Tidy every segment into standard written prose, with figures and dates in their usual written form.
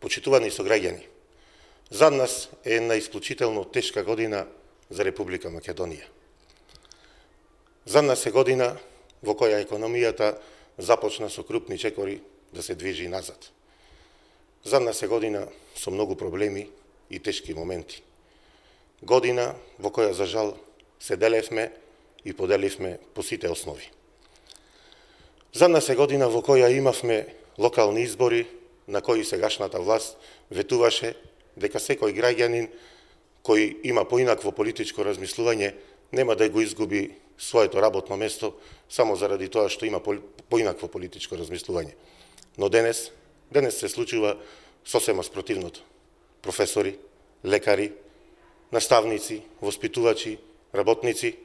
Почитувани сограѓани, за нас е една исклучително тешка година за Република Македонија. За нас е година во која економијата започна со крупни чекори да се движи назад. За нас е година со многу проблеми и тешки моменти. Година во која, за жал, се делевме и поделивме по сите основи. За нас е година во која имавме локални избори на кои сегашната власт ветуваше дека секој граѓанин кој има поинакво политичко размислување нема да го изгуби своето работно место само заради тоа што има поинакво политичко размислување. Но денес се случува сосема спротивното. Професори, лекари, наставници, воспитувачи, работници,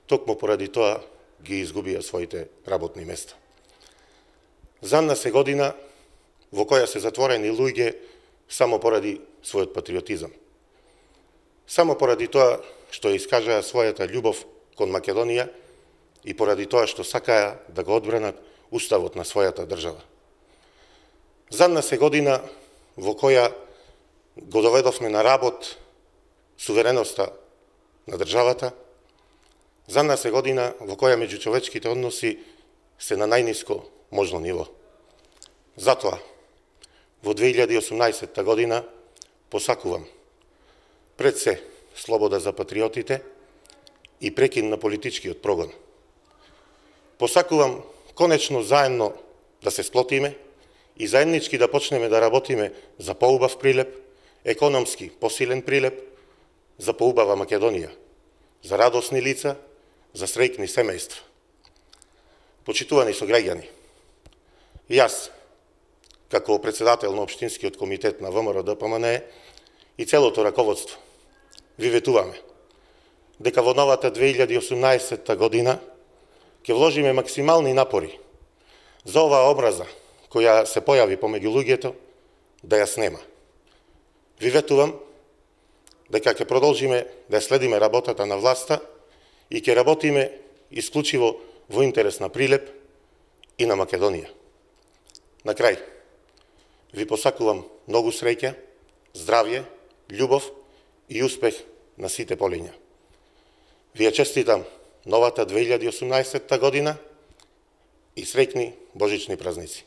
токму поради тоа ги изгубија своите работни места. За нас е година во која се затворени луѓе само поради својот патриотизам. Само поради тоа што искажаа својата љубов кон Македонија и поради тоа што сакаја да го одбранат уставот на својата држава. За нас е година во која го доведовме на работ сувереноста на државата. За нас е година во која меѓучовечките односи се на најниско можно ниво. Затоа, во 2018 година посакувам пред се слобода за патриотите и прекин на политичкиот прогон. Посакувам конечно заедно да се сплотиме и заеднички да почнеме да работиме за поубав прилеп, економски посилен прилеп, за поубава Македонија, за радосни лица, за среќни семејства. Почитувани сограѓани, јас, како председател на Општинскиот комитет на ВМРО-ДПМНЕ и целото раководство, ви ветуваме дека во новата 2018 година ќе вложиме максимални напори за оваа образа која се појави помеѓу луѓето да ја снема. Ви ветувам дека ќе продолжиме да следиме работата на власта и ќе работиме исклучиво во интерес на Прилеп и на Македонија. На крај, ви посакувам многу среќа, здравје, љубов и успех на сите полиња. Ви ја честитам новата 2018 година и среќни божични празници.